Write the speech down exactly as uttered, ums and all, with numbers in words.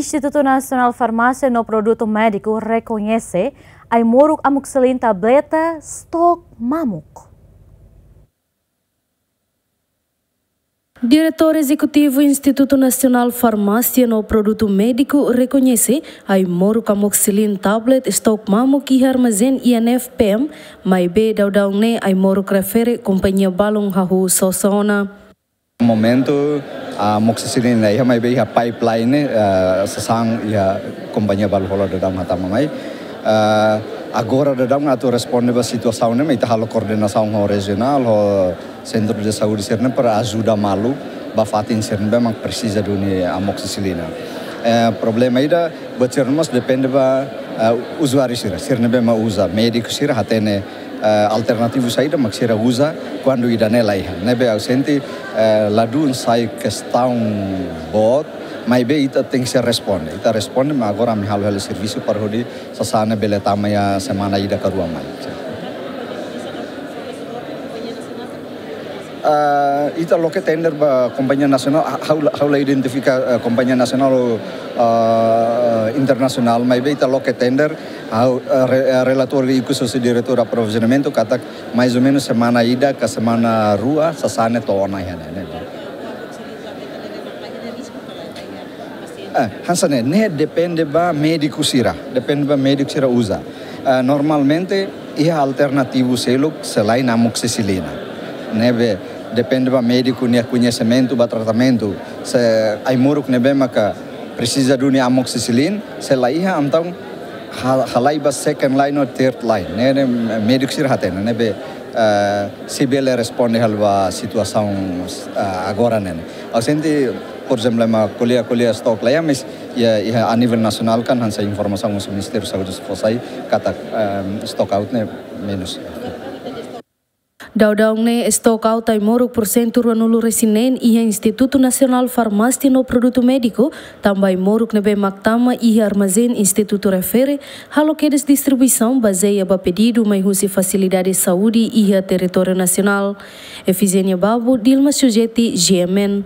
Institutu Nasionál Farmásia no Produtu Médiku rekoñese ai-moruk amoxicilin tableta stok mamuk. Diretór Ezekutivu Institutu Nasionál Farmásia no Produtu Médiku rekoñese ai-moruk amoxicilin tablet stok mamuk iha armazén I N F P M, maibé daudaun ne'e ai-moruk refere kompañia balun hahú sosa ona. Momentu, amoxicilin la iha, maibé iha pipeline, eh, sasán iha kompañia balu hola daudaun hatama mai. Eh, agora daudaun atu responde ba situasaun ne'e, mak ita halo koordenasaun ho rejionál, ho sentru de saúde sira-ne'e para ajuda malu ba fatin sira ne'ebé mak presiza duni amoxicilina. Eh, problema ida, buat sira-ne'e mós depende ba, eh, uzuáriu sira, sira ne'ebé mak uza, médiku sira hatene, eh, alternativu saida mak sira uza kuandu ida-ne'e la iha. Ne'ebé ha'u sente, eh, ladún sai kestaun boot, maibé ita tenke sei responde. Ita responde, mas agora ami halo hela servisu para hodi sasán ne'e bele tama iha semana ida ka rua mai. Ah, ita loke tender ba kompañia nasionál, ha-, ha'u la, ha'u la identifika, eh, kompañia nasionál ou, ah, internasionál, maibé ita loke tender, ha'u, eh, re-, eh, relatóriu ikus husi diretór aprovizionamentu katak mais ou menus semana ida ka semana rua sasán ne'e to'o ona iha ne'e, ne'e. Eh, hanesan ne'e, ne'e depende ba médiku sira, depende ba médiku sira uza. Eh, normalmente, iha alternativu seluk selain amoxicilina. Ne'ebé depende ba médiku nia koñesimentu ba tratamentu. Se ai-moruk ne'ebé maka presiza duni amoxicilin, se la iha, entaun ha-, halai ba second line ou third line. Ne'e, ne'e médiku sira hatene, ne'ebé, eh, sei bele responde hela ba situasaun, eh, agora ne'e. Ha'u sente, por ezemplu, ema ko'alia, ko'alia stok la iha, mas iha, iha a nivel nasionál kan hanesan informasaun husi Ministériu Saúde sei fó sai katak, ehm, stock out ne'e menus. Daudaun ne'e stock out ai-moruk porsentu ruanulu-resin-neen iha Institutu Nasionál Farmásia no Produtu Médiku, tanba ai-moruk ne'ebé mak tama iha armazén institutu refere, halo kedas distribuisaun bazeia ba pedidu mai husi fasilidade saúde iha territóriu nasionál. Efigénia Babu, Dilma Sujeti, G M N.